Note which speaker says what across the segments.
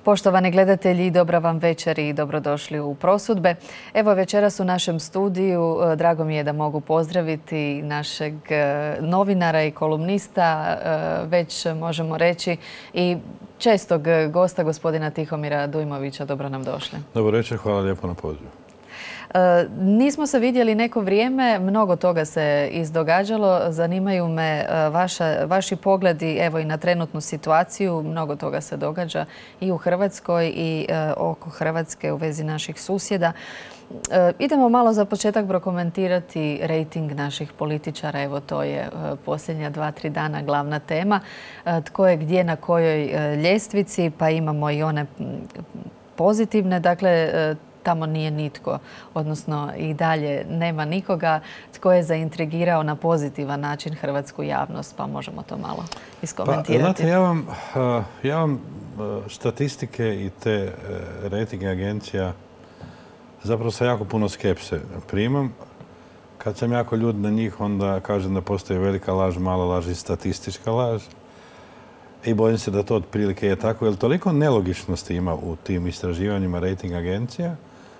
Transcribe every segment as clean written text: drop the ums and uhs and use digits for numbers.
Speaker 1: Poštovani gledatelji, dobra vam večer i dobrodošli u Prosudbe. Evo večeras u našem studiju, drago mi je da mogu pozdraviti našeg novinara i kolumnista, već možemo reći i čestog gosta, gospodina Tihomira Dujmovića. Dobro nam došli.
Speaker 2: Dobro večer, hvala lijepo na pozivu.
Speaker 1: Nismo se vidjeli neko vrijeme, mnogo toga se izdogađalo. Zanimaju me vaši pogledi evo i na trenutnu situaciju. Mnogo toga se događa i u Hrvatskoj i oko Hrvatske u vezi naših susjeda. Idemo malo za početak prokomentirati rejting naših političara. Evo to je posljednja 2-3 dana glavna tema. Tko je gdje na kojoj ljestvici, pa imamo i one pozitivne. Dakle, tamo nije nitko, odnosno i dalje nema nikoga tko je zaintrigirao na pozitivan način hrvatsku javnost, pa možemo to malo iskomentirati.
Speaker 2: Pa, znate, ja vam statistike i te rejting agencija zapravo sa jako puno skepse primam. Kad sam jako ljud na njih, onda kažem da postoji velika laž, mala laž i statistička laž. I bojim se da to otprilike je tako, jer toliko nelogičnosti ima u tim istraživanjima rejting agencija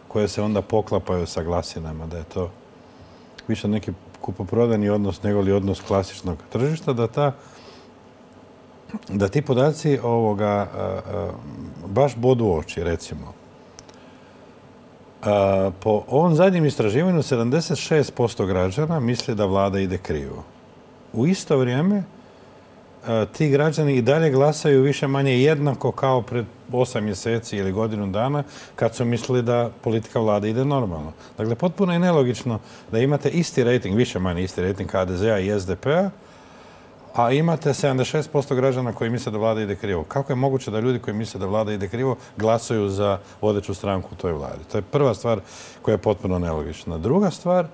Speaker 2: koje se onda poklapaju sa glasinama, da je to više neki kupoprodajni odnos nego li odnos klasičnog tržišta, da ti podaci baš bodu oči, recimo. Po ovom zadnjem istraživanju 76% građana misli da vlada ide krivo. U isto vrijeme ti građani i dalje glasaju više manje jednako kao pred 8 mjeseci ili godinu dana kad su mislili da politika vlade ide normalno. Dakle, potpuno je nelogično da imate isti rejting, više manje isti rejting HDZ-a i SDP-a, a imate 76% građana koji misle da vlada ide krivo. Kako je moguće da ljudi koji misle da vlada ide krivo glasuju za vodeću stranku u toj vladi? To je prva stvar koja je potpuno nelogična. Druga stvar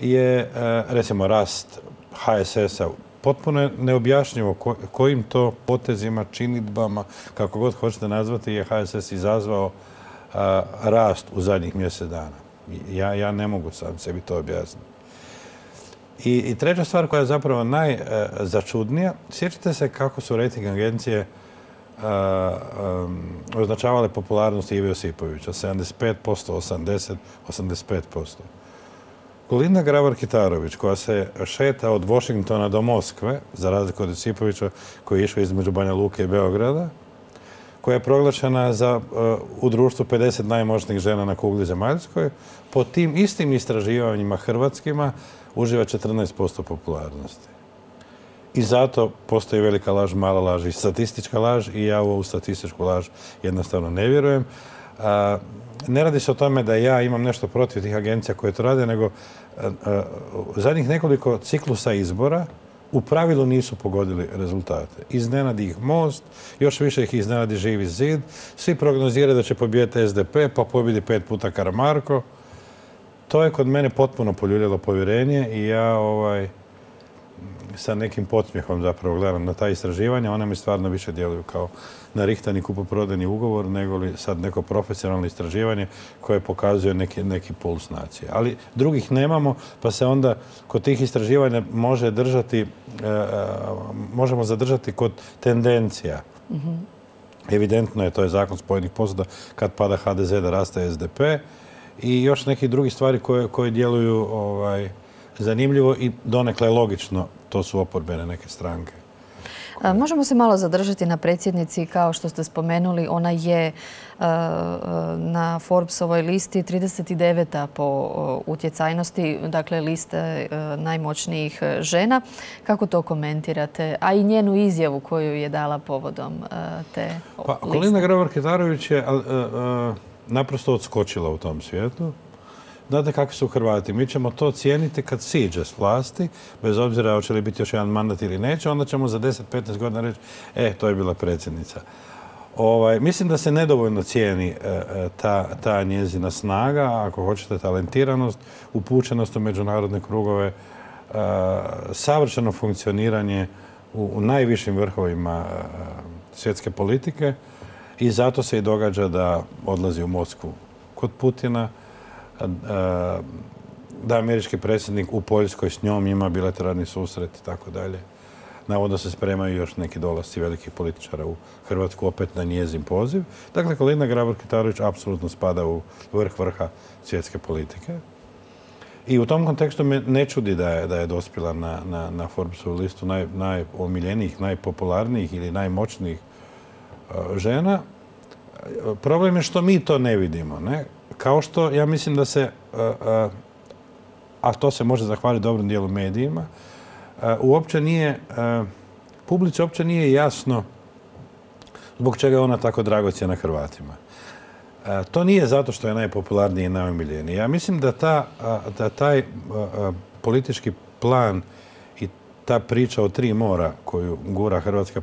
Speaker 2: je, recimo, rast HSS-a. Potpuno je neobjašnjivo kojim to potezima, činidbama, kako god hoćete nazvati, je HSS izazvao rast u zadnjih mjesec dana. Ja ne mogu sam sebi to objasniti. I treća stvar koja je zapravo najzačudnija, sjećate se kako su rejting agencije označavale popularnost Ive Josipovića, 75%, 80%, 85%. Kolinda Grabar-Kitarović, koja se šeta od Washingtona do Moskve, za razliku od Josipovića koji je išao između Banja Luke i Beograda, koja je proglašena u društvu 50 najmoćnijih žena na kugli zemaljskoj, po tim istim istraživanjima hrvatskima uživa 14% popularnosti. I zato postoji velika laž, mala laž i statistička laž i ja u ovu statističku laž jednostavno ne vjerujem. Ne radi se o tome da ja imam nešto protiv tih agencija koje to rade, nego zadnjih nekoliko ciklusa izbora u pravilu nisu pogodili rezultate. Iznenadi ih Most, još više ih iznenadi Živi zid. Svi prognoziraju da će pobijediti SDP, pa pobjedi 5 puta Karamarko. To je kod mene potpuno poljuljalo povjerenje i ja sa nekim podsmjehom zapravo gledam na ta istraživanja. Ona mi stvarno više djeluju kao narihtani kupoprodajni ugovor nego li sad neko profesionalno istraživanje koje pokazuje neki puls nacije. Ali drugih nemamo, pa se onda kod tih istraživanja možemo zadržati kod tendencija. Evidentno je, to je zakon spojenih posuda, kad pada HDZ da raste SDP i još neki drugi stvari koje djeluju zanimljivo i donekle logično. To su oporbene neke stranke.
Speaker 1: Možemo se malo zadržati na predsjednici. Kao što ste spomenuli, ona je na Forbesovoj listi 39. po utjecajnosti, dakle liste najmoćnijih žena. Kako to komentirate? A i njenu izjavu koju je dala povodom te liste.
Speaker 2: Kolinda Grabar-Kitarović je naprosto odskočila u tom svijetu. Znate kakvi su Hrvati. Mi ćemo to cijeniti kad siđe s vlasti, bez obzira hoće li biti još jedan mandat ili neće, onda ćemo za 10-15 godina reći, to je bila predsjednica. Mislim da se nedovoljno cijeni ta njezina snaga, ako hoćete talentiranost, upućenost u međunarodne krugove, savršeno funkcioniranje u najvišim vrhovima svjetske politike i zato se i događa da odlazi u Moskvu kod Putina, da američki predsjednik u Poljskoj s njom ima bilateralni susret i tako dalje. navodno se spremaju još neki dolasci velikih političara u Hrvatsku, opet na njezin poziv. Dakle, Kolinda Grabar-Kitarović apsolutno spada u vrh vrha svjetske politike. I u tom kontekstu me ne čudi da je dospjela na Forbesovu listu najomiljenijih, najpopularnijih ili najmoćnijih žena. Problem je što mi to ne vidimo. Ne? Kao što ja mislim da se, a to se može zahvaliti dobrom dijelu medijima, uopće nije, publici uopće nije jasno zbog čega je ona tako dragocjena Hrvatima. To nije zato što je najpopularniji i najomiljeniji. Ja mislim da taj politički plan i ta priča o 3 mora koju gura hrvatska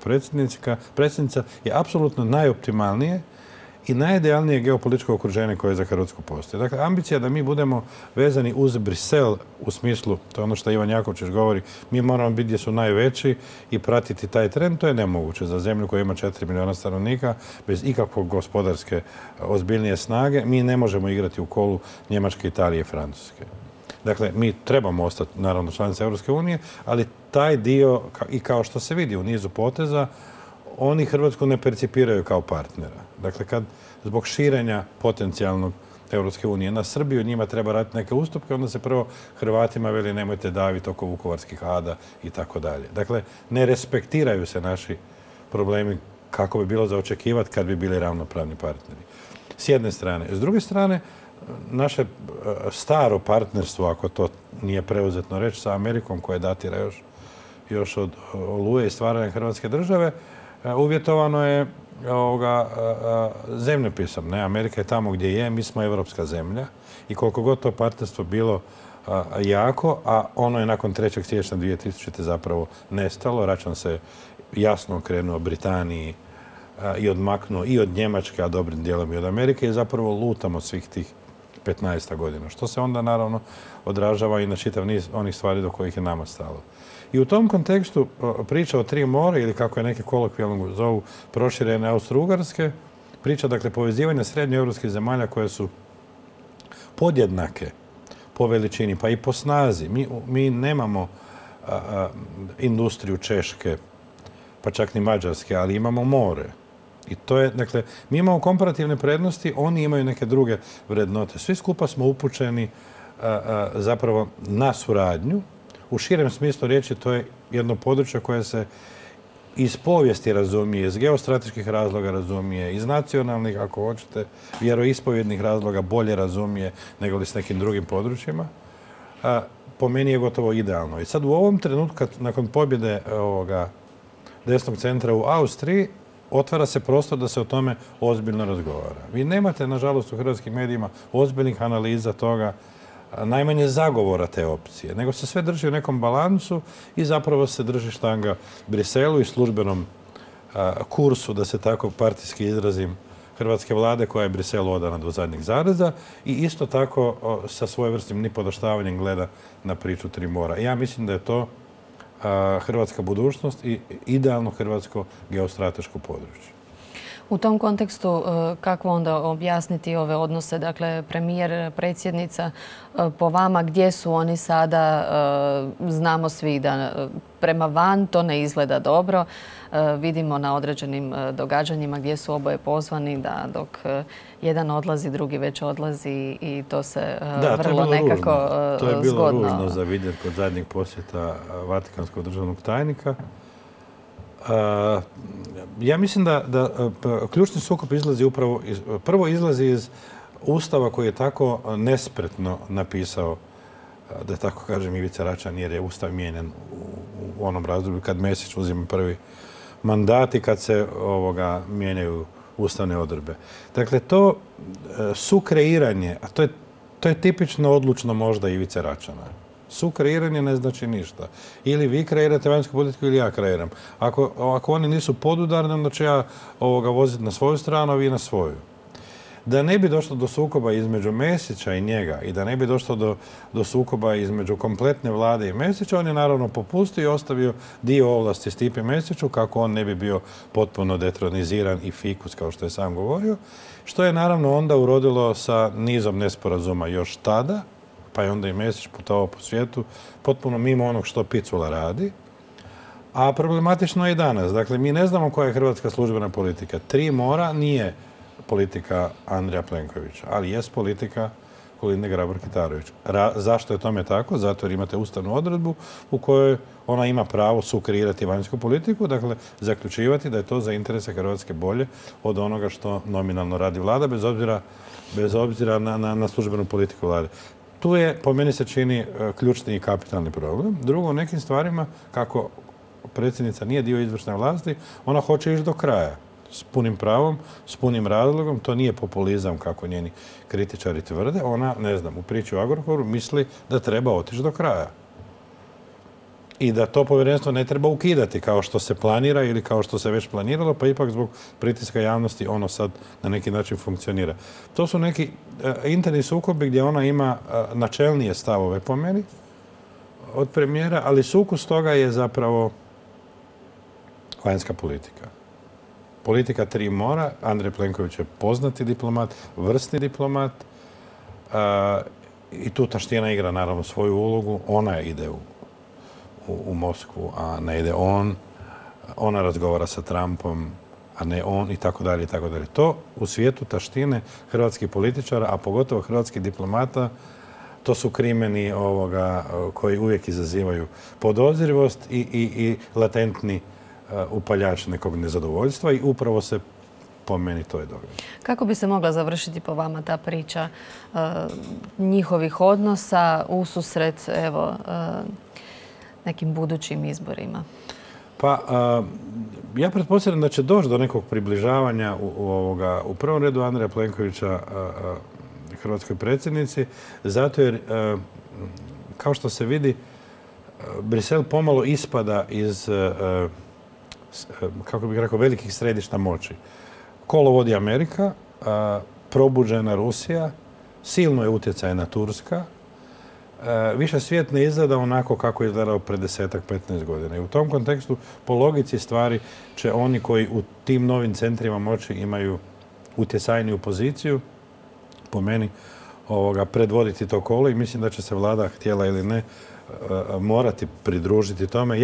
Speaker 2: predsjednica je apsolutno najoptimalnije i najidealnije geopolitičko okruženje koje za Hrvatsku postoji. Dakle, ambicija da mi budemo vezani uz Brisel u smislu, to je ono što Ivan Jakovčić govori, mi moramo biti gdje su najveći i pratiti taj trend, to je nemoguće za zemlju koja ima 4 milijuna stanovnika, bez ikakvog gospodarske ozbiljnije snage. Mi ne možemo igrati u kolu Njemačke, Italije i Francuske. Dakle, mi trebamo ostati, naravno, članice Europske unije, ali taj dio, i kao što se vidi u nizu poteza, oni Hrvatsku ne percipiraju kao partnera. Dakle, kad zbog širenja potencijalnog Europske unije na Srbiju njima treba raditi neke ustupke, onda se prvo Hrvatima veli nemojte daviti oko vukovarskih ada i tako dalje. Dakle, ne respektiraju se naši problemi kako bi bilo za očekivati kad bi bili ravnopravni partneri. S jedne strane. S druge strane, naše staro partnerstvo, ako to nije preuzetno reći, sa Amerikom koje datira još od Oluje i stvaranja Hrvatske države, uvjetovano je zemljopisom. Ne? Amerika je tamo gdje je, mi smo evropska zemlja i koliko god to partnerstvo bilo jako, a ono je nakon 3. siječnja 2000. zapravo nestalo. Račun se jasno okrenuo Britaniji i odmaknuo i od Njemačke, a dobrim dijelom i od Amerike i zapravo lutamo svih tih 15 godina. Što se onda naravno odražava i na čitav niz onih stvari do kojih je nama stalo. I u tom kontekstu priča o 3 mora, ili kako je neki kolokvijalno zovu proširene Austro-Ugarske, priča dakle povezivanja srednjoevropskih zemalja koje su podjednake po veličini, pa i po snazi. Mi nemamo industriju Češke, pa čak ni Mađarske, ali imamo more. I to je, dakle, mi imamo komparativne prednosti, oni imaju neke druge vrednote. Svi skupa smo upućeni zapravo na suradnju. U širem smislu riječi to je jedno područje koje se iz povijesti razumije, iz geostrateških razloga razumije, iz nacionalnih, ako hoćete, vjeroispovjednih razloga bolje razumije nego li s nekim drugim područjima. Po meni je gotovo idealno. I sad u ovom trenutku, nakon pobjede desnog centra u Austriji, otvara se prostor da se o tome ozbiljno razgovara. Vi nemate, nažalost, u hrvatskim medijima ozbiljnih analiza toga, najmanje zagovora te opcije, nego se sve drži u nekom balansu i zapravo se drži štanga Briselu i službenom kursu, da se tako partijski izrazim, hrvatske vlade koja je Briselu odana do zadnjeg zareza i isto tako sa svojevrsnim nipodaštavanjem gleda na priču 3 mora. Ja mislim da je to hrvatska budućnost i idealno hrvatsko geostrateško područje.
Speaker 1: U tom kontekstu kako onda objasniti ove odnose, dakle premijer, predsjednica, po vama gdje su oni sada? Znamo svi da prema van to ne izgleda dobro. Vidimo na određenim događanjima gdje su oboje pozvani da dok jedan odlazi, drugi već odlazi i to se vrlo nekako zgodno.
Speaker 2: To je bilo ružno za vidjeti kod zadnjeg posjeta Vatikanskog državnog tajnika. Ja mislim da ključni sukob izlazi upravo prvo izlazi iz Ustava koji je tako nespretno napisao, da tako kažem, Ivica Račan, jer je Ustav mijenjan u onom razdoblju kad Mesić uzima prvi mandat i kad se mijenjaju ustavne odredbe. Dakle, to sukreiranje, a to je tipično odlučno možda Ivice Račana. Sukreiranje ne znači ništa. Ili vi kreirate vanjsku politiku ili ja kreiram. Ako oni nisu podudarni, onda ću ja voziti na svoju stranu, a vi na svoju. Da ne bi došlo do sukoba između Mesića i njega i da ne bi došlo do sukoba između kompletne vlade i Mesića, on je naravno popustio i ostavio dio ovlasti Stipi Mesiću kako on ne bi bio potpuno detroniziran i fikus, kao što je sam govorio, što je naravno onda urodilo sa nizom nesporazuma još tada, pa je onda i Mesić putovao po svijetu potpuno mimo onog što Picula radi. A problematično je i danas. Dakle, mi ne znamo koja je hrvatska službena politika. 3 mora nije politika Andreja Plenkovića, ali jest politika Kolinde Grabar-Kitarović. Zašto je tome tako? Zato jer imate ustavnu odredbu u kojoj ona ima pravo sukreirati vanjsku politiku, dakle zaključivati da je to za interese Hrvatske bolje od onoga što nominalno radi vlada, bez obzira na službenu politiku vlade. Tu je, po meni se čini, ključni i kapitalni problem. Drugo, u nekim stvarima, kako predsjednica nije dio izvršne vlasti, ona hoće ići do kraja. S punim pravom, s punim razlogom. To nije populizam, kako njeni kritičari tvrde. Ona, ne znam, u priči o Agrokoru misli da treba otići do kraja. I da to povjerenstvo ne treba ukidati kao što se planira ili kao što se već planiralo, pa ipak zbog pritiska javnosti ono sad na neki način funkcionira. To su neki interni sukobi gdje ona ima načelnije stavove po meni od premijera, ali sukus toga je zapravo vanjska politika. Politika 3 mora. Andrej Plenković je poznati diplomat, vrsni diplomat i tu taština igra naravno svoju ulogu. Ona ide u Moskvu, a ne ide on. Ona razgovara sa Trumpom, a ne on i tako dalje i tako dalje. To u svijetu taštine hrvatskih političara, a pogotovo hrvatskih diplomata, to su krimeni koji uvijek izazivaju podozrivost i latentni upaljač nekog nezadovoljstva i upravo se po meni to je događa.
Speaker 1: Kako bi se mogla završiti po vama ta priča njihovih odnosa ususret nekim budućim izborima?
Speaker 2: Pa, ja pretpostavljam da će doći do nekog približavanja u prvom redu Andreja Plenkovića hrvatskoj predsjednici, zato jer, kao što se vidi, Brisel pomalo ispada iz, kako bih rekao, velikih središta moći. Kolo vodi Amerika, probuđena Rusija, silno je utjecajna Turska, više svijet ne izgleda onako kako je izgledao pred 10-15 godina. I u tom kontekstu, po logici stvari, će oni koji u tim novim centrima moći imaju utjecajniju poziciju, po meni, predvoditi to kolo i mislim da će se vlada, htjela ili ne, morati pridružiti tome.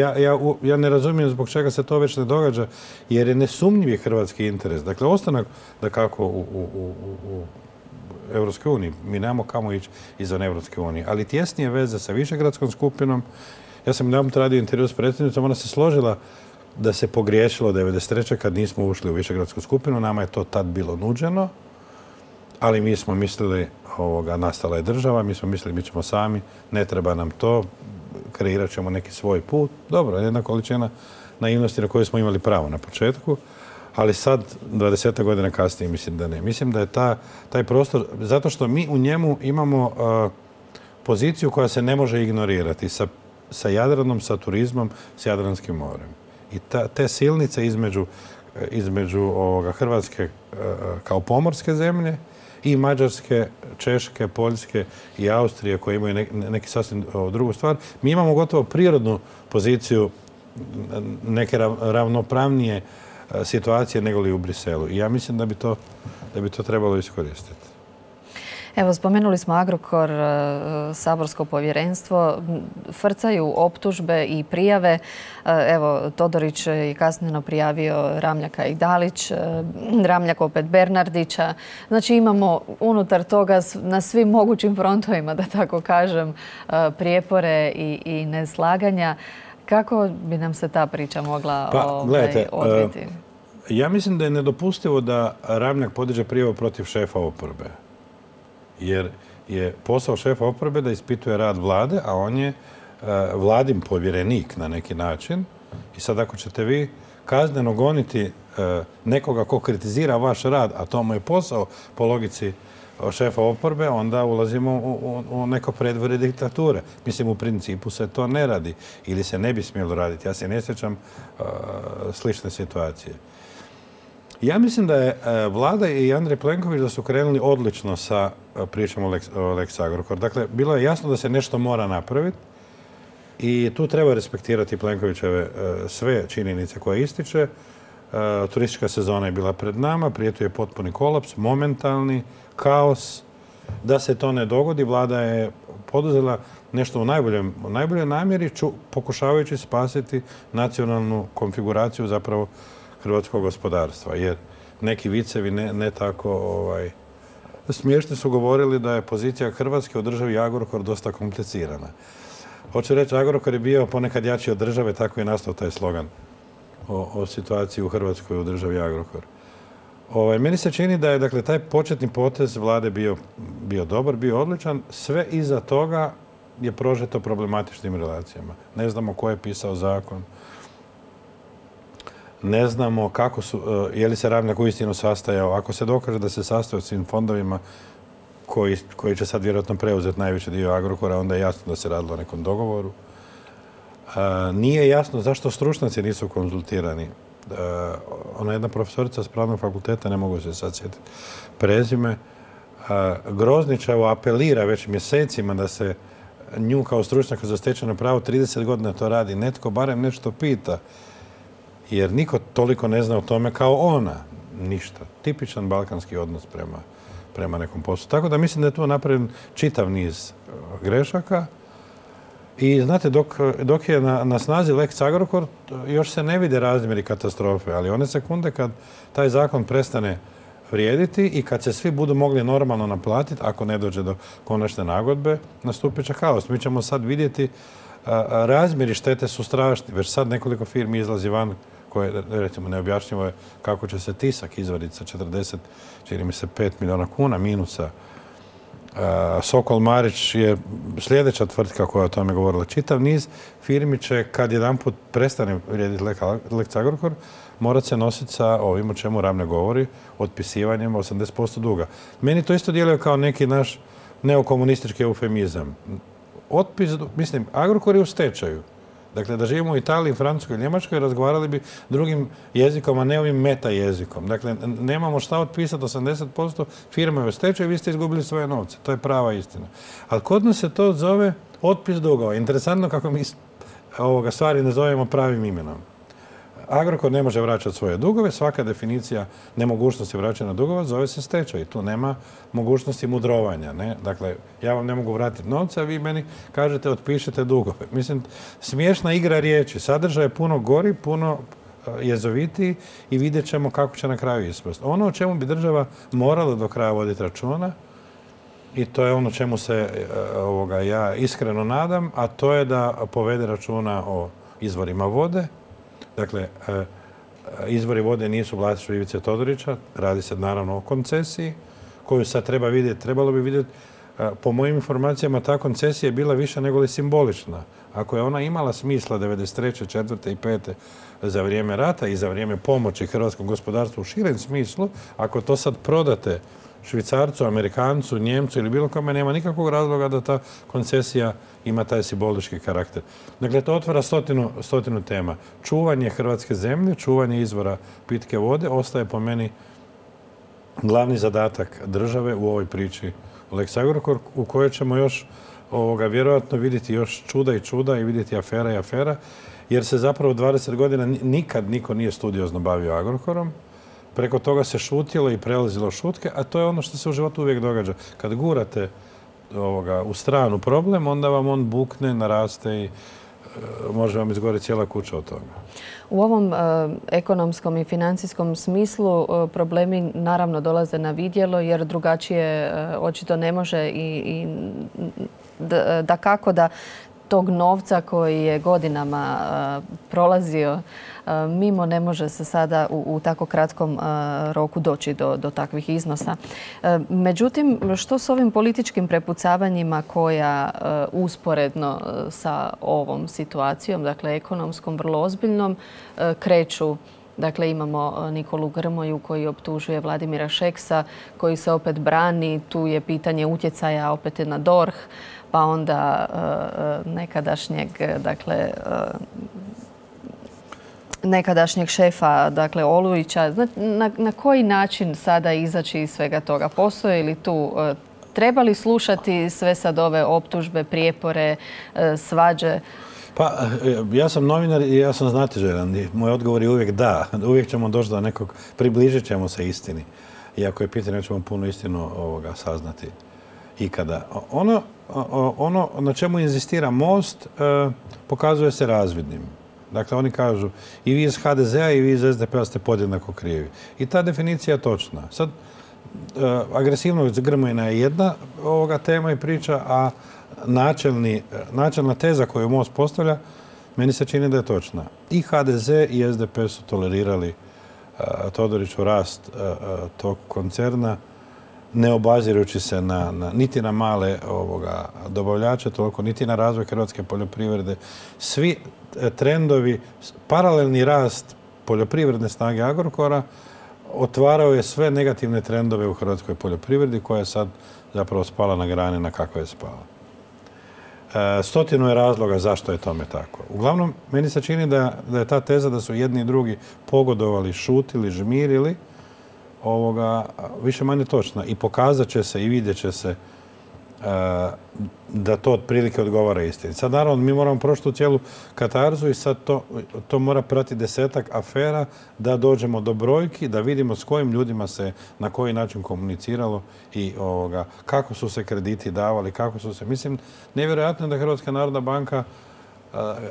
Speaker 2: Ja ne razumijem zbog čega se to već ne događa, jer je nesumnjivi hrvatski interes. Dakle, ostanak da kako u Europskoj uniji. Mi nemamo kamo ići izvan Europske unije. Ali tjesnije veze sa Višegradskom skupinom. Ja sam jedanput radio intervju s predsjednicom, ona se složila da se pogriješilo 1993. kad nismo ušli u Višegradsku skupinu. Nama je to tad bilo nuđeno, ali mi smo mislili, nastala je država, mi smo mislili mi ćemo sami, ne treba nam to, kreirat ćemo neki svoj put. Dobro, jedna količina naivnosti na koju smo imali pravo na početku, ali sad, 20 godina kasnije, mislim da ne. Mislim da je taj prostor, zato što mi u njemu imamo poziciju koja se ne može ignorirati sa Jadranom, sa turizmom, s Jadranskim morem. I te silnice između Hrvatske kao pomorske zemlje i Mađarske, Češke, Poljske i Austrije koje imaju neki sasvim drugu stvar. Mi imamo gotovo prirodnu poziciju neke ravnopravnije situacije nego li u Briselu. I ja mislim da bi to trebalo iskoristiti.
Speaker 1: Evo, spomenuli smo Agrokor, saborsko povjerenstvo, frcaju optužbe i prijave. Evo, Todorić je kasnije prijavio Ramljaka i Dalić, Ramljak opet Bernardića. Znači imamo unutar toga na svim mogućim frontovima, da tako kažem, prijepore i neslaganja. Kako bi nam se ta priča mogla odviti?
Speaker 2: Ja mislim da je nedopustivo da Ramljak podiže prijavu protiv šefa oporbe. Jer je posao šefa oporbe da ispituje rad vlade, a on je vladin povjerenik na neki način. I sad ako ćete vi kazneno goniti nekoga ko kritizira vaš rad, a to mu je posao po logici šefa oporbe, onda ulazimo u neko predvorje diktature. Mislim, u principu se to ne radi ili se ne bi smjelo raditi. Ja se ne sjećam slične situacije. Ja mislim da je vlada i Andrej Plenković da su krenuli odlično sa pričom o Lex Agrokor. Dakle, bilo je jasno da se nešto mora napraviti i tu treba respektirati Plenkovićeve sve činjenice koje ističe. Turistička sezona je bila pred nama, prijetio je potpuni kolaps, momentalni kaos. Da se to ne dogodi, vlada je poduzela nešto u najboljoj namjeri, pokušavajući spasiti nacionalnu konfiguraciju zapravo hrvatskog gospodarstva. Jer neki vicevi ne tako smiješni su govorili da je pozicija Hrvatske u državi Agrokor dosta komplicirana. Hoću reći, Agrokor je bio ponekad jači od države, tako je nastao taj slogan o situaciji u Hrvatskoj u državi Agrokor. Meni se čini da je dakle, taj početni potez vlade bio dobar, bio odličan. Sve iza toga je prožeto problematičnim relacijama. Ne znamo ko je pisao zakon. Ne znamo je li se Ramljak uistinu sastajao. Ako se dokaže da se sastojao s svim fondovima koji će sad vjerojatno preuzeti najveći dio Agrokora, onda je jasno da se radilo o nekom dogovoru. Nije jasno zašto stručnjaci nisu konzultirani. Ona jedna profesorica s pravnog fakulteta, ne mogu se sad sjetiti prezime, Groznićevo apelira već mjesecima da se nju kao stručnjaka za stečajno pravo 30 godina to radi. Netko barem nešto pita. Jer niko toliko ne zna o tome kao ona. Ništa. Tipičan balkanski odnos prema nekom poslu. Tako da mislim da je tu napravljen čitav niz grešaka. I znate, dok je na snazi Lex Agrokor, još se ne vide razmjeri katastrofe, ali one sekunde kad taj zakon prestane vrijediti i kad se svi budu mogli normalno naplatiti, ako ne dođe do konačne nagodbe, nastupit će kaos. Mi ćemo sad vidjeti razmjeri štete su strašni. Već sad nekoliko firmi izlazi van koje, recimo, neobjašnjivo je kako će se Tisak izvaditi sa 40, čini mi se, 5 milijuna kuna minusa. Sokol Marić je sljedeća tvrtka koja je o tome govorila. Čitav niz firmi će, kad jedanput prestane vrijediti Lex Agrokor, morat se nositi sa ovim o čemu Ramljak govori, otpisivanjem 80% duga. Meni to isto djeluje kao neki naš neokomunistički eufemizam. Mislim, Agrokor je u stečaju. Dakle, da živimo u Italiji, Francuskoj i Njemačkoj, razgovarali bi drugim jezikom, a ne ovim meta jezikom. Dakle, nemamo šta otpisati 80%, firma je u stečaju, vi ste izgubili svoje novce. To je prava istina. Ali kod nas se to zove otpis dugova. Interesantno kako mi stvari ne zovemo pravim imenom. Agrokor ne može vraćati svoje dugove, svaka definicija nemogućnosti vraćanja dugova zove se stečaj. Tu nema mogućnosti mudrovanja. Ne? Dakle, ja vam ne mogu vratiti novce, a vi meni kažete otpišite dugove. Mislim, smiješna igra riječi. Sadržaj je puno gori, puno jezovitiji i vidjet ćemo kako će na kraju ispasti. Ono o čemu bi država morala do kraja voditi računa, i to je ono čemu se ja iskreno nadam, a to je da povede računa o izvorima vode. Dakle, izvori vode nisu vlasništvo Ivice Todorića, radi se naravno o koncesiji koju sad treba vidjeti. Trebalo bi vidjeti, po mojim informacijama, ta koncesija je bila više nego li simbolična. Ako je ona imala smisla 93., 4. i 5. za vrijeme rata i za vrijeme pomoći hrvatskom gospodarstvu u širem smislu, ako to sad prodate Švicarcu, Amerikancu, Njemcu ili bilo kome, nema nikakvog razloga da ta koncesija ima taj simbolički karakter. Dakle, to otvara stotinu tema. Čuvanje hrvatske zemlje, čuvanje izvora pitke vode ostaje po meni glavni zadatak države u ovoj priči Lex Agrokor, u kojoj ćemo još vjerojatno vidjeti još čuda i vidjeti afera i afera, jer se zapravo 20 godina nikad niko nije studiozno bavio Agrokorom. Preko toga se šutilo i prelazilo šutke, a to je ono što se u životu uvijek događa. Kad gurate u stranu problem, onda vam on bukne, naraste i može vam izgoriti cijela kuća od toga.
Speaker 1: U ovom ekonomskom i financijskom smislu problemi naravno dolaze na vidjelo, jer drugačije očito ne može i dakako da tog novca koji je godinama prolazio mimo ne može se sada u tako kratkom roku doći do takvih iznosa. Međutim, što s ovim političkim prepucavanjima koja usporedno sa ovom situacijom, dakle ekonomskom, vrlo ozbiljnom, kreću? Dakle, imamo Nikolu Grmoju koji optužuje Vladimira Šeksa, koji se opet brani. Tu je pitanje utjecaja opet na DORH, pa onda nekadašnjeg šefa, dakle Olujića. Na koji način sada izaći iz svega toga? Postoje li tu, treba li slušati sve sad ove optužbe, prijepore, svađe?
Speaker 2: Pa, ja sam novinar i ja sam znatiželjan. Moj odgovor je uvijek da. Uvijek ćemo doći do nekog, približit ćemo se istini. Iako je pitanje, ćemo puno istinu saznati. ikada. Ono na čemu inzistira Most pokazuje se razvidnim. Dakle, oni kažu i vi iz HDZ-a i vi iz SDP-a ste podjednako krivi. I ta definicija je točna. Sad, agresivnost Grmojina je jedna ovoga tema i priča, a načelna teza koju Most postavlja, meni se čini da je točna. I HDZ i SDP su tolerirali Todoriću rast tog koncerna, ne obazirući se niti na male dobavljače, toliko niti na razvoj hrvatske poljoprivrede. Svi trendovi, paralelni rast poljoprivredne snage Agrokora otvarao je sve negativne trendove u hrvatskoj poljoprivredi koja je sad zapravo spala na grane na kakve je spala. Stotinu je razloga zašto je tome tako. Uglavnom, meni se čini da je ta teza da su jedni i drugi pogodovali, šutili, žmirili, više manje točna. I pokazat će se i vidjet će se da to otprilike odgovara istini. Sad, naravno, mi moramo proći tu cijelu katarzu i sad to mora pratiti 10-ak afera da dođemo do brojki, da vidimo s kojim ljudima se na koji način komuniciralo i kako su se krediti davali, kako su se... Mislim, nevjerojatno je da Hrvatska narodna banka,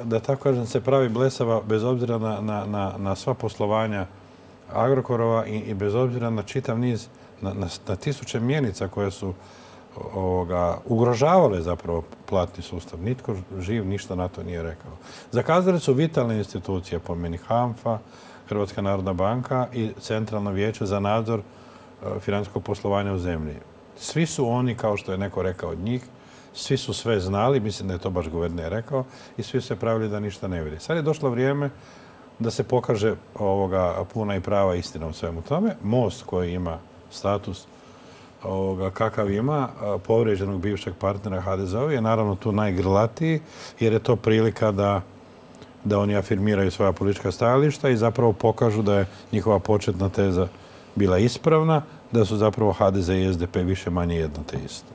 Speaker 2: da tako kažem, se pravi blesava bez obzira na sva poslovanja Agrokorova i bez obzira na čitav niz, na tisuće mjenica koje su ugrožavale zapravo platni sustav. Nitko živ ništa na to nije rekao. Zakazale su vitalne institucije, po meni HANFA, Hrvatska narodna banka i Centralno vijeće za nadzor financijskog poslovanja u zemlji. Svi su oni, kao što je neko rekao od njih, svi su sve znali, mislim da je to baš guverner rekao, i svi su se pravili da ništa ne vidi. Sad je došlo vrijeme da se pokaže puna i prava istina u svemu tome. Most koji ima status kakav ima, povrijeđenog bivšeg partnera HDZ-a je naravno tu najgrlatiji, jer je to prilika da oni afirmiraju svoja politička stajališta i zapravo pokažu da je njihova početna teza bila ispravna, da su zapravo HDZ i SDP više manje jedno te isto.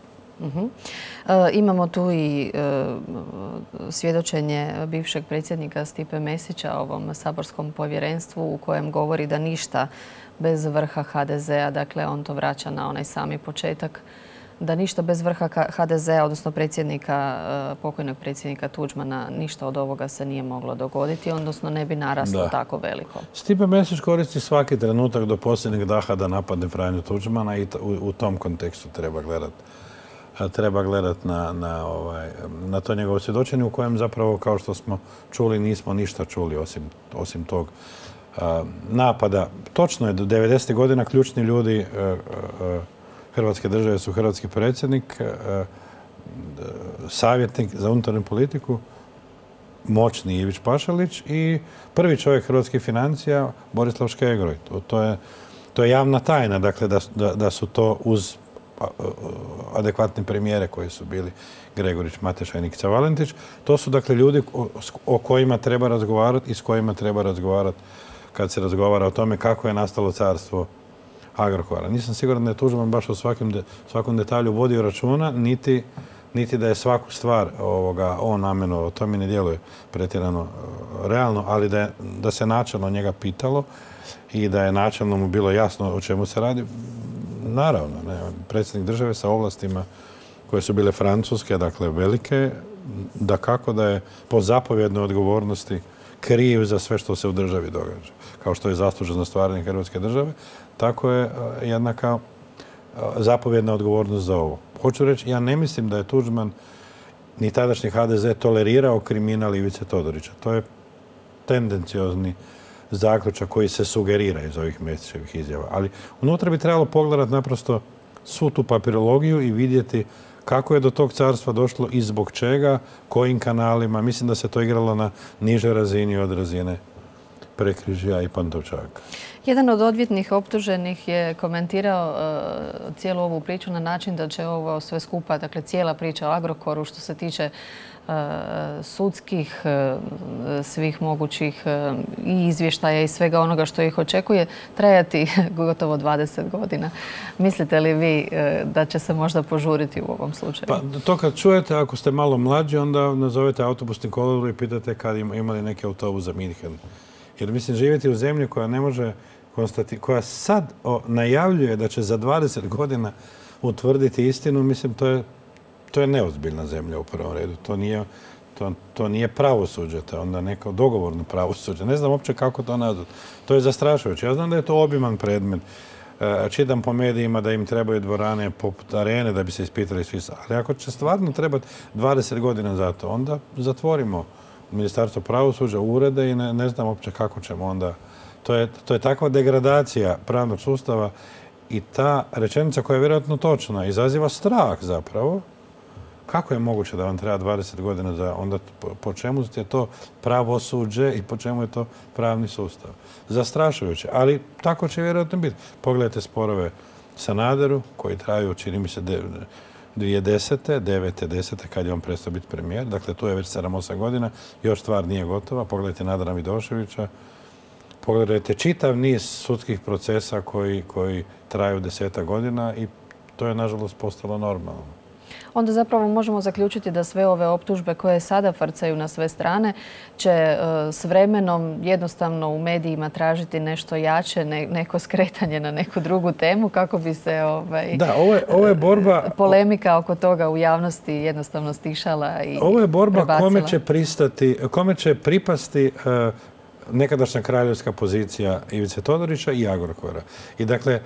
Speaker 1: Imamo tu i svjedočenje bivšeg predsjednika Stipe Mesića ovom saborskom povjerenstvu u kojem govori da ništa bez vrha HDZ-a, dakle on to vraća na onaj sami početak, da ništa bez vrha HDZ-a, odnosno pokojnog predsjednika Tuđmana, ništa od ovoga se nije moglo dogoditi, odnosno ne bi naraslo tako veliko.
Speaker 2: Stipe Mesić koristi svaki trenutak do posljednjeg daha da napadne Franju Tuđmana i u tom kontekstu treba gledati na to njegovo svjedočenje u kojem zapravo, kao što smo čuli, nismo ništa čuli osim tog napada. Točno je, do 90. godina ključni ljudi Hrvatske države su hrvatski predsjednik, savjetnik za unutarnju politiku, moćni Ivić Pašalić i prvi čovjek hrvatskih financija Borislav Škegro. To je javna tajna, dakle da su to uz adekvatne premijere koji su bili Gregorić, Mateša i Nikica Valentić. To su dakle ljudi o kojima treba razgovarati i s kojima treba razgovarati kad se razgovara o tome kako je nastalo carstvo Agrokora. Nisam siguran da je Tuđman baš o svakom detalju vodio računa, niti da je svaku stvar on namenovao. To mi ne djeluje pretjerano realno, ali da se načelno njega pitalo i da je načelno mu bilo jasno o čemu se radi. Naravno, predsjednik države sa ovlastima koje su bile francuske, dakle velike, dakako da je po zapovjednoj odgovornosti kriv za sve što se u državi događa. Kao što je zaslužan za stvaranje Hrvatske države, tako je jednaka zapovjedna odgovornost za ovo. Hoću reći, ja ne mislim da je Tuđman ni tadašnji HDZ tolerirao kriminal Ivice Todorića. To je tendenciozni zaključak koji se sugerira iz ovih Mesićevih izjava. Ali unutra bi trebalo pogledati naprosto svu tu papirologiju i vidjeti kako je do tog carstva došlo i zbog čega, kojim kanalima. Mislim da se to igralo na nižoj razini od razine Prekrižja i Pantovčaka.
Speaker 1: Jedan od odvjetnih optuženih je komentirao cijelu ovu priču na način da će ovo sve skupa, dakle cijela priča o Agrokoru što se tiče sudskih, svih mogućih i izvještaja i svega onoga što ih očekuje, trajati gotovo 20 godina. Mislite li vi da će se možda požuriti u ovom slučaju?
Speaker 2: Pa to kad čujete, ako ste malo mlađi, onda nazovete autobusni kolodvor i pitate kad imali neki autobus za Minhen. Jer mislim, živjeti u zemlji koja ne može koja sad najavljuje da će za 20 godina utvrditi istinu, mislim, to je neozbiljna zemlja u prvom redu. To nije pravosuđe, to je onda neko dogovorno pravosuđe. Ne znam uopće kako to nazvati. To je zastrašujuće. Ja znam da je to obiman predmet. Čitam po medijima da im trebaju dvorane poput arene da bi se ispitali svi. Ali ako će stvarno trebati 20 godina za to, onda zatvorimo Ministarstvo pravosuđa, urede i ne znam uopće kako ćemo onda. To je takva degradacija pravnog sustava i ta rečenica koja je vjerojatno točna izaziva strah zapravo. Kako je moguće da vam treba 20 godina za onda po čemu je to pravosuđe i po čemu je to pravni sustav? Zastrašujuće, ali tako će vjerojatno biti. Pogledajte sporove Sanaderu koji traju, čini mi se, 2010. 9. 10. kad je on prestao biti premijer. Dakle, tu je već 7-8 godina. Još stvar nije gotova. Pogledajte Nadana Vidoševića. Pogledajte čitav niz sudskih procesa koji traju 10 godina i to je, nažalost, postalo normalno.
Speaker 1: Onda zapravo možemo zaključiti da sve ove optužbe koje sada frcaju na sve strane će s vremenom jednostavno u medijima tražiti nešto jače, neko skretanje na neku drugu temu kako bi se
Speaker 2: da, ovo je borba,
Speaker 1: polemika oko toga u javnosti jednostavno stišala i
Speaker 2: ovo je borba
Speaker 1: prebacila.
Speaker 2: Kome će pripasti nekadašnja kraljevska pozicija Ivice Todorića i Agrokora. I dakle,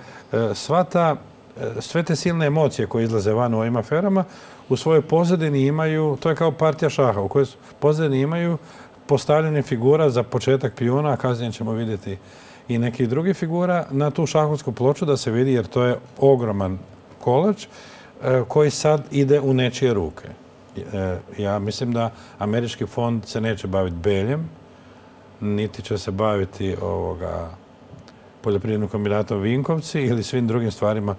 Speaker 2: sve te silne emocije koje izlaze van u ovim aferama u svojoj pozadini imaju, to je kao partija šaha, u kojoj pozadini imaju postavljanje figura za početak pijuna, a kasnije ćemo vidjeti i nekih drugih figura na tu šahovsku ploču da se vidi, jer to je ogroman kolač koji sad ide u nečije ruke. Ja mislim da američki fond se neće baviti Beljem, niti će se baviti poljoprivrednim kombinatom Vinkovci ili svim drugim stvarima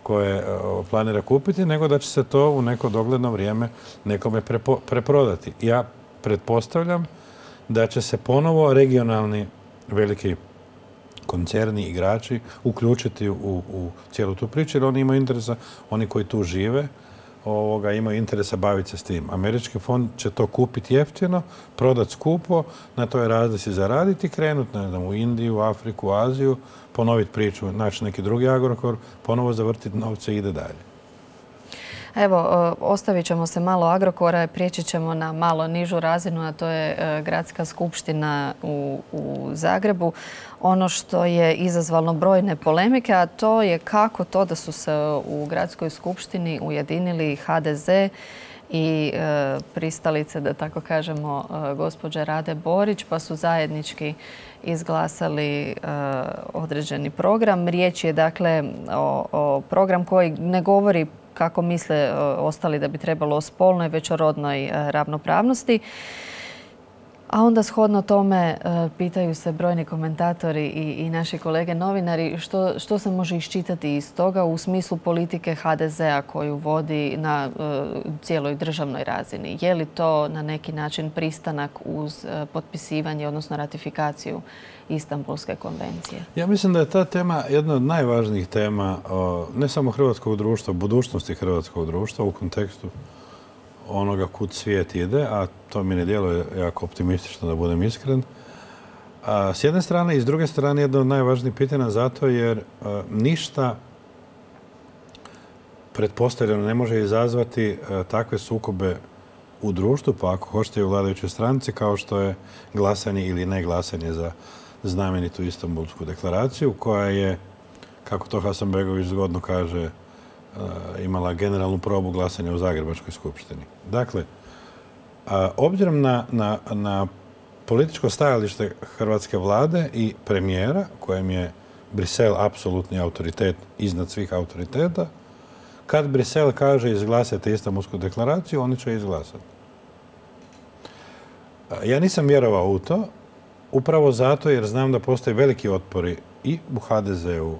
Speaker 2: koje planira kupiti, nego da će se to u neko dogledno vrijeme nekome preprodati. Ja pretpostavljam da će se ponovo regionalni veliki koncerni, igrači uključiti u cijelu tu priču, jer oni imaju interesa, oni koji tu žive, imaju interesa baviti se s tim. Američki fond će to kupiti jeftino, prodati skupo, na toj razlici zaraditi i krenuti, ne znam, u Indiju, Afriku, Aziju, ponoviti priču, naći neki drugi Agrokor, ponovo zavrtiti novce i ide dalje.
Speaker 1: Evo, ostavit ćemo se malo Agrokora, prijeći ćemo na malo nižu razinu, a to je Gradska skupština u Zagrebu. Ono što je izazvalo brojne polemike, a to je kako to da su se u Gradskoj skupštini ujedinili HDZ i pristalice, da tako kažemo, gospođe Rade Borić, pa su zajednički izglasali određeni program. Riječ je dakle o program koji ne govori kako misle ostali da bi trebalo o spolnoj, već o rodnoj ravnopravnosti. A onda shodno tome pitaju se brojni komentatori i naši kolege novinari što se može iščitati iz toga u smislu politike HDZ-a koju vodi na cijeloj državnoj razini. Je li to na neki način pristanak uz potpisivanje, odnosno ratifikaciju Istanbulske konvencije?
Speaker 2: Ja mislim da je ta tema jedna od najvažnijih tema ne samo hrvatskog društva, budućnosti hrvatskog društva u kontekstu onoga kud svijet ide, a to mi ne djeluje jako optimistično, da budem iskren. S jedne strane i s druge strane jedno od najvažnijih pitanja zato jer ništa pretpostavljeno ne može izazvati takve sukobe u društvu, pa ako hoćete i u vladajućoj stranci, kao što je glasanje ili ne glasanje za znamenitu Istanbulsku deklaraciju, koja je, kako to Hasanbegović zgodno kaže, imala generalnu probu glasanja u Zagrebačkoj skupštini. Dakle, obzirom na političko stajalište hrvatske vlade i premijera, kojem je Brisel apsolutni autoritet iznad svih autoriteta, kad Brisel kaže izglasajte Istanbulsku deklaraciju, oni će izglasati. Ja nisam vjerovao u to, upravo zato jer znam da postoje veliki otpori i u HDZ-u,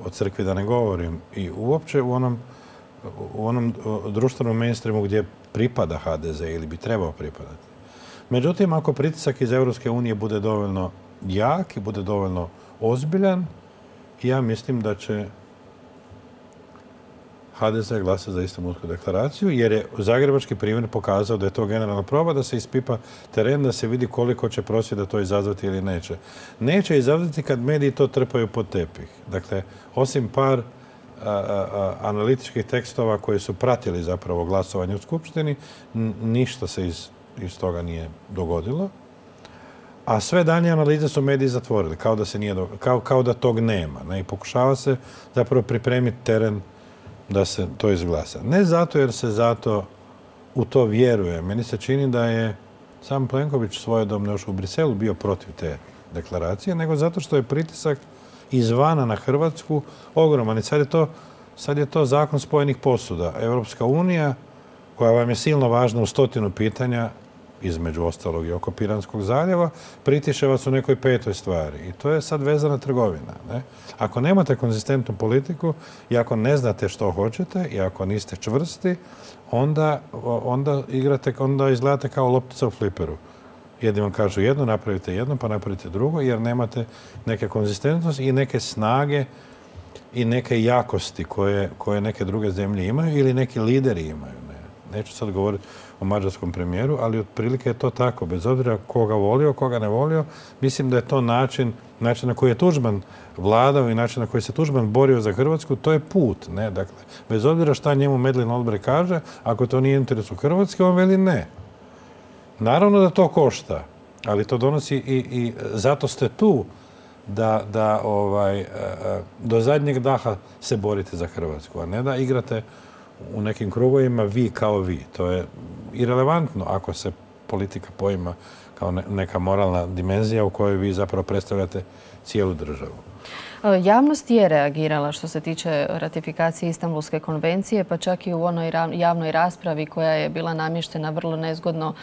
Speaker 2: o crkvi da ne govorim, i uopće u onom društvenom mainstreamu gdje pripada HDZ ili bi trebao pripadati. Međutim, ako pritisak iz Europske unije bude dovoljno jak i bude dovoljno ozbiljan, ja mislim da će HDZ glasati za Istanbulsku deklaraciju, jer je zagrebački primjer pokazao da je to generalna proba, da se ispipa teren, da se vidi koliko će prosvjeda to izazvati ili neće. Neće izazvati kad mediji to trpaju pod tepih. Dakle, osim par analitičkih tekstova koji su pratili zapravo glasovanje u Skupštini, ništa se iz toga nije dogodilo. A sve dalje analize su mediji zatvorili, kao da se nije kao da tog nema. Ne? I pokušava se zapravo pripremiti teren da se to izglasa. Ne zato jer se zato u to vjeruje. Meni se čini da je sam Plenković svojedobno još u Briselu bio protiv te deklaracije, nego zato što je pritisak izvana na Hrvatsku ogroman. I sad je to zakon spojenih posuda. Europska unija, koja vam je silno važna u 100 pitanja, između ostalog i oko Piranskog zaljeva, pritiše vas u nekoj 5. stvari. I to je sad vezana trgovina. Ne? Ako nemate konzistentnu politiku i ako ne znate što hoćete i ako niste čvrsti, onda izgledate kao loptica u fliperu. Jedni vam kažu jedno, napravite jedno, pa napravite drugo, jer nemate neke konzistentnosti i neke snage i neke jakosti koje neke druge zemlje imaju ili neki lideri imaju. Neću sad govoriti o mađarskom premijeru, ali otprilike je to tako. Bez obzira koga volio, koga ne volio, mislim da je to način na koji je Tuđman vladao i način na koji se Tuđman borio za Hrvatsku, to je put. Ne? Dakle, bez obzira šta njemu Madeleine Albright kaže, ako to nije interes u Hrvatske, on veli ne. Naravno da to košta, ali to donosi i zato ste tu da do zadnjeg daha se borite za Hrvatsku, a ne da igrate u nekim krugovima vi kao vi. To je irelevantno ako se politika poima kao neka moralna dimenzija u kojoj vi zapravo predstavljate cijelu državu.
Speaker 1: Javnost je reagirala što se tiče ratifikacije Istanbulske konvencije, pa čak i u onoj javnoj raspravi koja je bila namještena vrlo nezgodno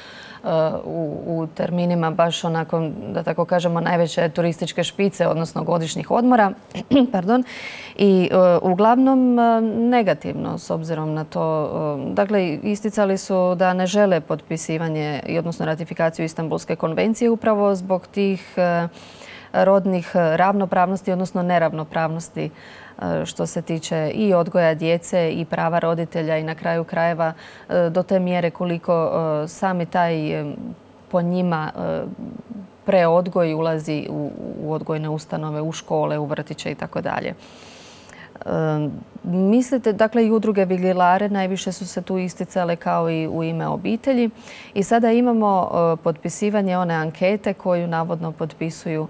Speaker 1: u terminima baš onako, da tako kažemo, najveće turističke špice, odnosno godišnjih odmora. Pardon. I uglavnom negativno s obzirom na to. Dakle, isticali su da ne žele potpisivanje, odnosno ratifikaciju Istanbulske konvencije upravo zbog tih rodnih ravnopravnosti, odnosno neravnopravnosti što se tiče i odgoja djece i prava roditelja i na kraju krajeva do te mjere koliko sami taj po njima preodgoj ulazi u odgojne ustanove, u škole, u vrtiće i tako dalje. Mislite, dakle i udruge Vigilare najviše su se tu isticale kao i u ime obitelji i sada imamo potpisivanje one ankete koju navodno potpisuju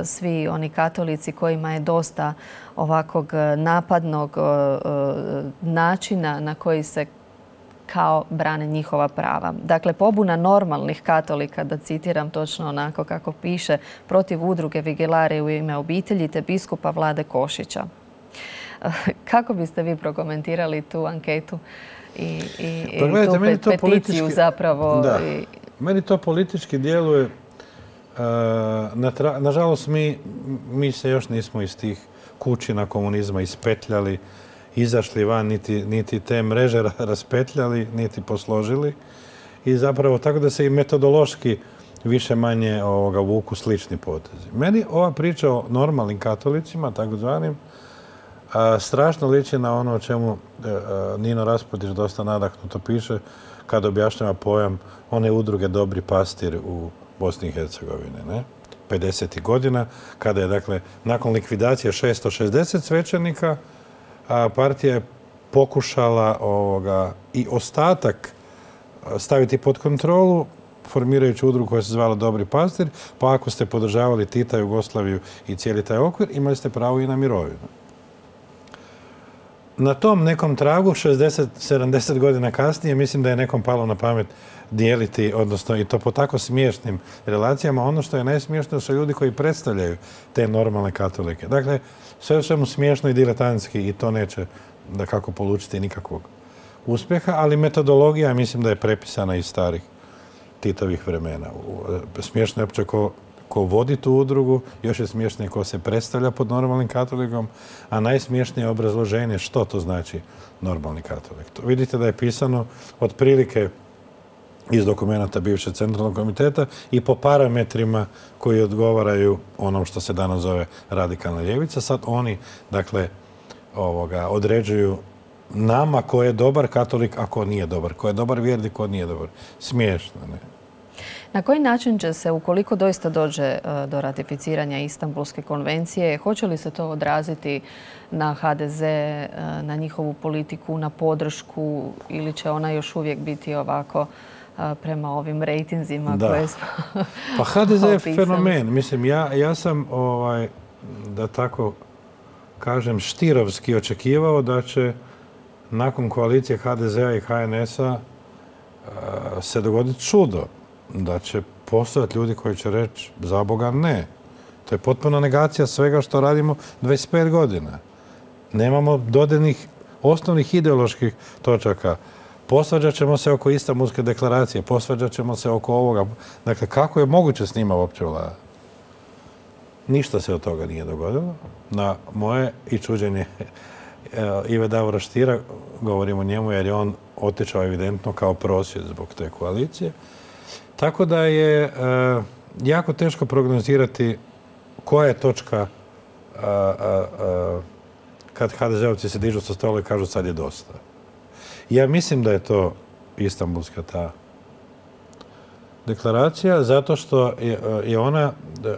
Speaker 1: svi oni katolici kojima je dosta ovakvog napadnog načina na koji se kao brane njihova prava. Dakle, pobuna normalnih katolika, da citiram točno onako kako piše, protiv udruge Vigilare u ime obitelji te biskupa Vlade Košića. Kako biste vi prokomentirali tu anketu i tu peticiju zapravo?
Speaker 2: Da. Meni to politički djeluje. Nažalost, mi se još nismo iz tih kućina komunizma ispetljali, izašli van, niti te mreže raspetljali, niti posložili. I zapravo tako da se i metodološki više manje vuku slični potezi. Meni ova priča o normalnim katolicima, takozvanim, strašno liči na ono o čemu Nino Raspudić dosta nadahnuto piše kad objašnjava pojam one udruge Dobri pastir u Bosni i Hercegovini. 50. godina, kada je, dakle, nakon likvidacije 660 svećenika, partija je pokušala i ostatak staviti pod kontrolu, formirajući udrugu koja se zvala Dobri pastir, pa ako ste podržavali Tita, Jugoslaviju i cijeli taj okvir, imali ste pravo i na mirovinu. Na tom nekom tragu, 60-70 godina kasnije, mislim da je nekom palo na pamet dijeliti, odnosno i to po tako smiješnim relacijama. Ono što je najsmiješnije su ljudi koji predstavljaju te normalne katolike. Dakle, sve u svemu smiješno i diletantski i to neće da kako polučiti nikakvog uspjeha, ali metodologija mislim da je prepisana iz starih Titovih vremena. Smiješno je uopće ko vodi tu udrugu, još je smiješnije ko se predstavlja pod normalnim katolikom, a najsmiješnije je obrazloženje što to znači normalni katolik. Vidite da je pisano otprilike iz dokumenta bivšeg centralnog komiteta i po parametrima koji odgovaraju onom što se danas zove radikalna ljevica. Sad oni, dakle, određuju nama ko je dobar katolik, a ko nije dobar. Ko je dobar vjernik, ko nije dobar. Smiješno, ne?
Speaker 1: Na koji način će se, ukoliko doista dođe do ratificiranja Istanbulske konvencije, hoće li se to odraziti na HDZ, na njihovu politiku, na podršku ili će ona još uvijek biti ovako prema ovim rejtinzima koje smo
Speaker 2: Pa HDZ je fenomen. Mislim, ja sam, da tako kažem, štirovski očekivao da će nakon koalicije HDZ-a i HNS-a se dogoditi čudo. Da će postojati ljudi koji će reći za Boga ne. To je potpuno negacija svega što radimo 25 godina. Nemamo dodirnih osnovnih ideoloških točaka. Posvađat ćemo se oko Istanbulske deklaracije, posvađat ćemo se oko ovoga. Dakle, kako je moguće s njima uopće vlada? Ništa se od toga nije dogodilo. Na moje i čuđenje Ive Davora Stiera, govorim o njemu jer je on otišao evidentno kao prosvjed zbog te koalicije. Tako da je jako teško prognozirati koja je točka kad HDZ-ovci se dižu sa stola i kažu sad je dosta. Ja mislim da je to Istanbulska ta deklaracija zato što je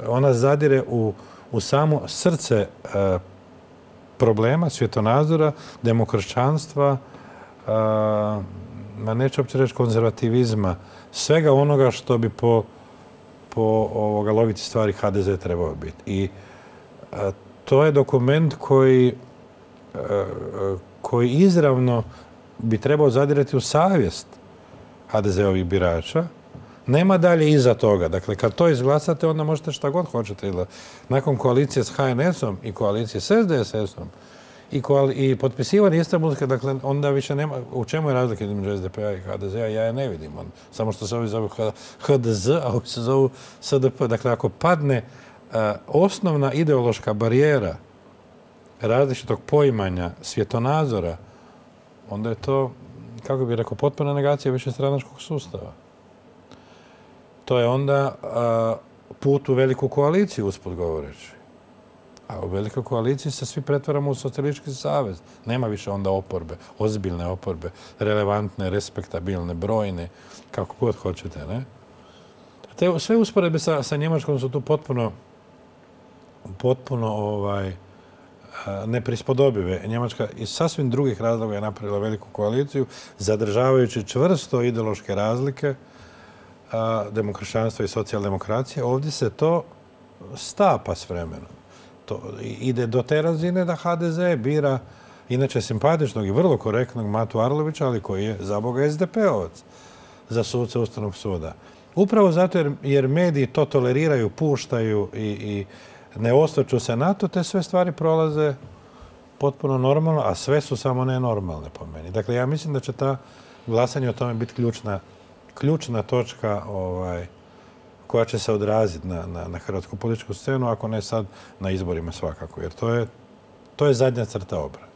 Speaker 2: ona zadire u samo srce problema, svjetonazora, demokršćanstva, neću uopće reći konzervativizma, svega onoga što bi po logici stvari HDZ trebao biti. I to je dokument koji izravno bi trebao zadirati u savjest HDZ-ovih birača. Nema dalje iza toga. Dakle, kad to izglasate, onda možete šta god hoćete. Nakon koalicije s HNS-om i koalicije s SDSS-om i potpisivanje Istanbulske, dakle, onda više nema... U čemu je razlika između SDP-a i HDZ-a? Ja je ne vidim. Samo što se ovi zovu HDZ, a ovi se zovu SDP. Dakle, ako padne osnovna ideološka barijera različitog poimanja, svjetonazora, onda je to, kako bih rekao, potpuna negacija višestranačkog sustava. To je onda put u veliku koaliciju, usput govoreći. A u velikoj koaliciji se svi pretvaramo u socijalistički savez. Nema više onda oporbe, ozbiljne oporbe, relevantne, respektabilne, brojne, kako god hoćete, ne? Sve usporedbe sa Njemačkom su tu potpuno neprispodobive. Njemačka iz sasvim drugih razloga je napravila veliku koaliciju, zadržavajući čvrsto ideološke razlike demokršćanstva i socijaldemokracije. Ovdje se to stapa s vremenom. To ide do te razine da HDZ bira inače simpatičnog i vrlo korektnog Matu Arlovića, ali koji je za Boga SDP-ovac za suce Ustavnog suda. Upravo zato jer mediji to toleriraju, puštaju i ne osvrću se na to, te sve stvari prolaze potpuno normalno, a sve su samo nenormalne po meni. Dakle, ja mislim da će ta glasanje o tome biti ključna točka koja će se odraziti na hrvatsku političku scenu, ako ne sad na izborima svakako, jer to je zadnja crta obrane.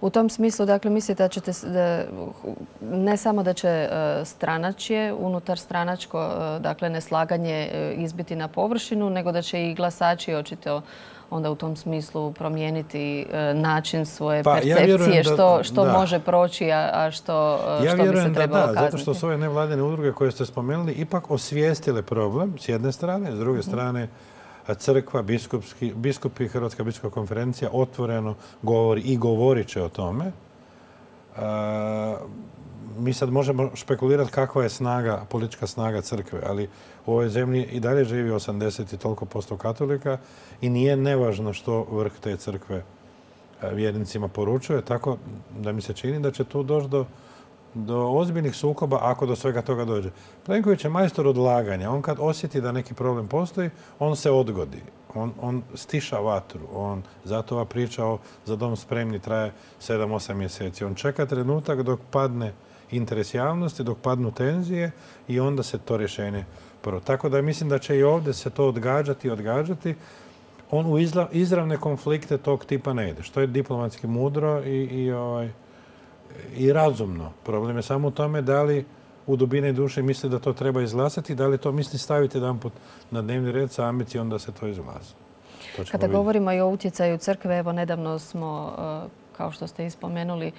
Speaker 1: U tom smislu, dakle, mislite da ćete, ne samo da će stranačje, unutar stranačko, dakle, neslaganje izbiti na površinu, nego da će i glasači očito onda u tom smislu promijeniti način svoje percepcije, što može proći, a što bi se trebalo kazniti. Ja vjerujem da, zato što su ove nevladine udruge koje ste spomenuli ipak osvijestile problem s jedne strane, s druge strane crkva, biskupi, Hrvatska biskupska konferencija otvoreno govori i govorit će o tome. Mi sad možemo špekulirati kakva je politička snaga crkve, ali u ovoj zemlji i dalje živi 80 i toliko posto katolika i nije nevažno što vrh te crkve vjernicima poručuje, tako da mi se čini da će tu doći do ozbiljnih sukoba ako do svega toga dođe. Plenković je majstor odlaganja. On kad osjeti da neki problem postoji, on se odgodi. On stiša vatru. Zato ova priča o Za dom spremni traje 7-8 mjeseci. On čeka trenutak dok padne interes javnosti, dok padnu tenzije i onda se to rješenje prvo. Tako da mislim da će i ovdje se to odgađati. On u izravne konflikte tog tipa ne ide. Što je diplomatski mudro i razumno. Problem je samo u tome da li u dubini duše misli da to treba izglasati, da li to misli staviti jedanput na dnevni red sa ambicijom da se to izglasa. Kada govorimo i o utjecaju crkve, evo nedavno smo kao što ste ispomenuli,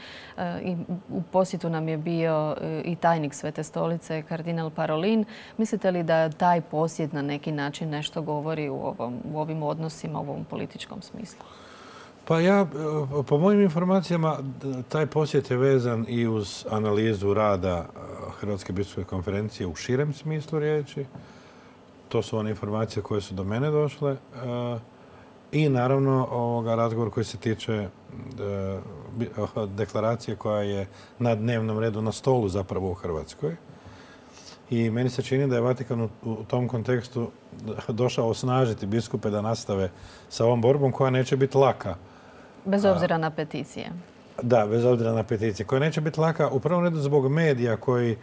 Speaker 1: i u posjetu nam je bio i tajnik Svete stolice, kardinal Parolin. Mislite li da taj posjet na neki način nešto govori u ovim odnosima, u ovom političkom smislu?
Speaker 2: Pa po mojim informacijama, taj posjet je vezan i uz analizu rada Hrvatske biskupske konferencije u širem smislu riječi. To su one informacije koje su do mene došle. I naravno razgovor koji se tiče deklaracije koja je na dnevnom redu, na stolu zapravo u Hrvatskoj. I meni se čini da je Vatikan u tom kontekstu došao osnažiti biskupe da nastave sa ovom borbom koja neće biti laka.
Speaker 1: Bez obzira na peticije.
Speaker 2: Da, bez obzira na peticije. Koja neće biti laka u prvom redu zbog medija koji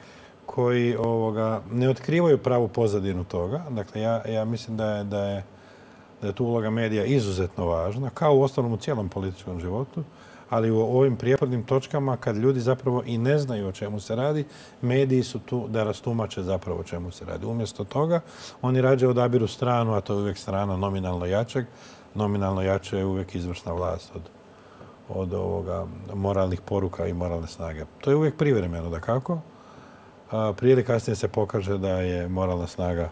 Speaker 2: ne otkrivaju pravu pozadinu toga. Dakle, ja mislim da je tu uloga medija izuzetno važna, kao u ostalom u cijelom političkom životu, ali u ovim prijepornim točkama, kad ljudi zapravo i ne znaju o čemu se radi, mediji su tu da rastumače zapravo o čemu se radi. Umjesto toga, oni rađe odabiru stranu, a to je uvijek strana nominalno jačeg. Nominalno jače je uvijek izvršna vlast od moralnih poruka i moralne snage. To je uvijek privremeno, dakako. Prije ili kasnije se pokaže da je moralna snaga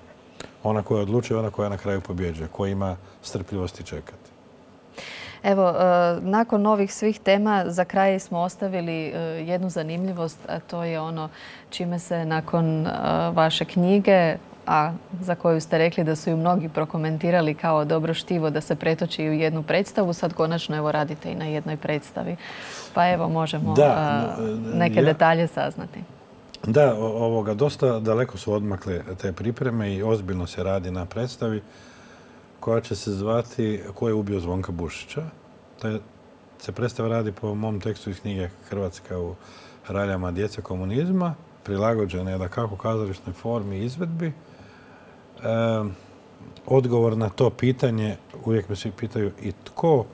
Speaker 2: ona koja odlučuje, ona koja na kraju pobjeđuje, koja ima strpljivosti čekati.
Speaker 1: Evo, nakon ovih svih tema za kraj smo ostavili jednu zanimljivost, a to je ono čime se nakon vaše knjige, a za koju ste rekli da su ju mnogi prokomentirali kao dobro štivo da se pretoči u jednu predstavu, sad konačno evo radite i na jednoj predstavi. Pa evo možemo neke detalje saznati.
Speaker 2: Da, dosta daleko su odmakle te pripreme i ozbiljno se radi na predstavi koja će se zvati Ko je ubio Zvonka Bušića. Se predstava radi po mom tekstu iz knjige Hrvatska u raljama djece komunizma, prilagođena je dakako kazališnoj formi i izvedbi. Odgovor na to pitanje, uvijek me svi pitaju i tko,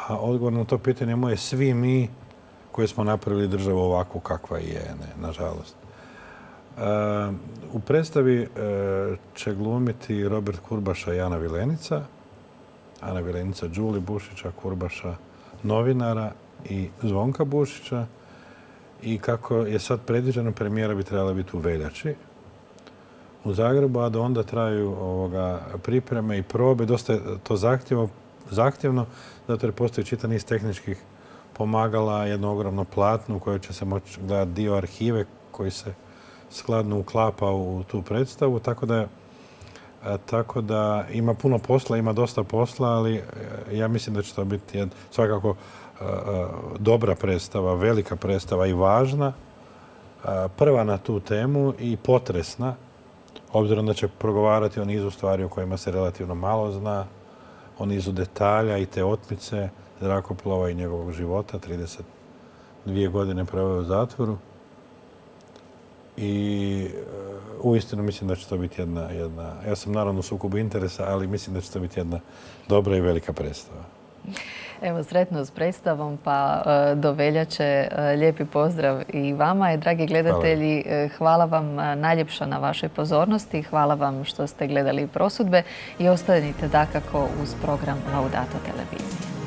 Speaker 2: a odgovor na to pitanje moje svi mi koji smo napravili državu ovakvu kakva je, nažalost. U predstavi će glumiti Robert Kurbaša i Ana Vilenica. Ana Vilenica, Đuli Bušića, Kurbaša, novinara i Zvonka Bušića. I kako je sad predviđeno, premijera bi trebala biti u veljači u Zagrebu, a da onda traju pripreme i probe. Dosta je to zahtjevno, zato jer postoji čitav niz tehničkih pomagala, jedno ogromno platno u kojoj će se moći gledati dio arhive koji se skladno uklapa u tu predstavu. Tako da ima puno posla, ima dosta posla, ali ja mislim da će to biti svakako dobra predstava, velika predstava i važna, prva na tu temu i potresna, obzirom da će progovarati o nizu stvari o kojima se relativno malo zna, o nizu detalja i te otmice zrakoplova i njegovog života, 32 godine proveo u zatvoru. I uistinu mislim da će to biti jedna, ja sam naravno u sukobu interesa, ali mislim da će to biti jedna dobra i velika predstava.
Speaker 1: Evo, sretno s predstavom, pa do veljače. Lijepi pozdrav i vama. Dragi gledatelji, hvala vam najljepša na vašoj pozornosti. Hvala vam što ste gledali Prosudbe i ostanite dakako uz program Laudato televizije.